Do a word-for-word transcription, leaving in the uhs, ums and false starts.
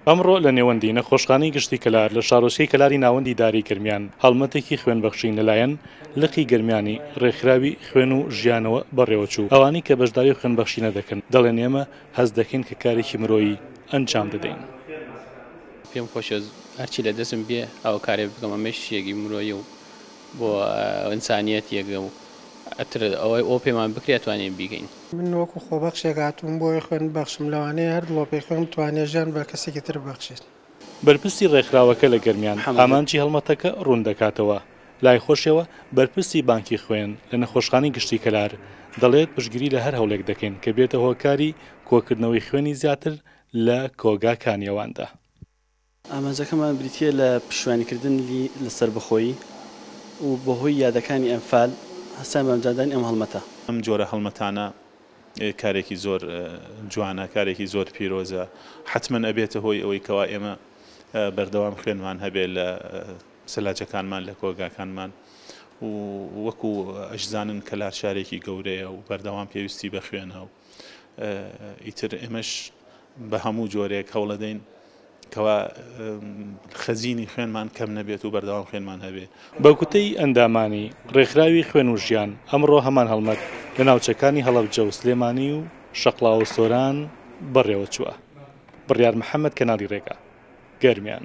ئەمڕۆ لە نێوەندی نەخۆشخانەی گشتی کەلار لە شارۆچکەی کەلاری ناوەندی ئیدارەی گەرمیان هەڵمەتێکی خوێنبەخشین لەلایەن لقی گەرمیانی ڕێکخراوی خوێن و ژیانەوە بەڕێوەچوو. ئەوانەی کە بەشداری خوێنبەخشینە دەکەن دەڵێن ئێمە هەست دەکەین کە کارێکی مرۆیی ئەنجام دەدەین. پێم خۆشە هەرچی لە دەستم بێ ئەو کارێ بکەم، ئەمەش شتێکی مرۆیی و بۆ ئینسانیەتێکە و ئەتر ئەوەی ئەو پێمان بکرێت توانین بیگەین. من وەکو خۆبەخشێک هاتووم بۆی خوێن بەخشم، لەوانەیە هەر دڵۆپێک خوێن بتوانێت ژیان بە کەسێکی تر ببەخشێت. بەرپرسی ڕێکخراوەکە لە گەرمیان ئامانجی هەڵمەتەکە ڕوون دەکاتەوە. لای خۆشیەوە بەرپرسی بانکی خوێن لە نەخۆشخانەی گشتی کەلار دەڵێت پشتگیری لە هەر هەوڵێک دەکەین کە بێتە هۆکاری کۆکردنەوەی خوێنی زیاتر لە کۆگاکانی ئەواندا. ئامانجەکەمان بریتییە لە پشتیوانیکردن لە سەربەخۆیی و بەهۆی یادەکانی ئەنفال هەستان بە ئەنجامدانی ئەم هەڵمەتە. ئەم جۆرە هەڵمەتانە کارێکی زۆر جوانە، کارێکی زۆر پیرۆزە، حتمما ئەبێتە هۆی ئەوەی کەوا ئێمە بەردەوام خوێنمان هەبێت لە سەلاجەکانمان، لە کۆگاکانمان و وەکو ئەشزانن کەلار شارێکی گەورەیە و بەردەوام پێویستی بە خوێنە و ئیتر ئێمەش بە هەموو جۆرێک هەوڵەدەین کەوا خەزینی خوێنمان کەم نەبێت و بەردەوام خوێنمان هەبێت. بە گوتەی ئەندامانی ڕێکخراوی خوێن و ژیان ئەمڕۆ هەمان هەڵمەت لە ناوچەکانی هەڵەبجە و سلێمانی و شەقڵاوە و سۆران بەڕێوە چووە. بڕیار محەممەد، کەناڵی ڕێگا، گەرمیان.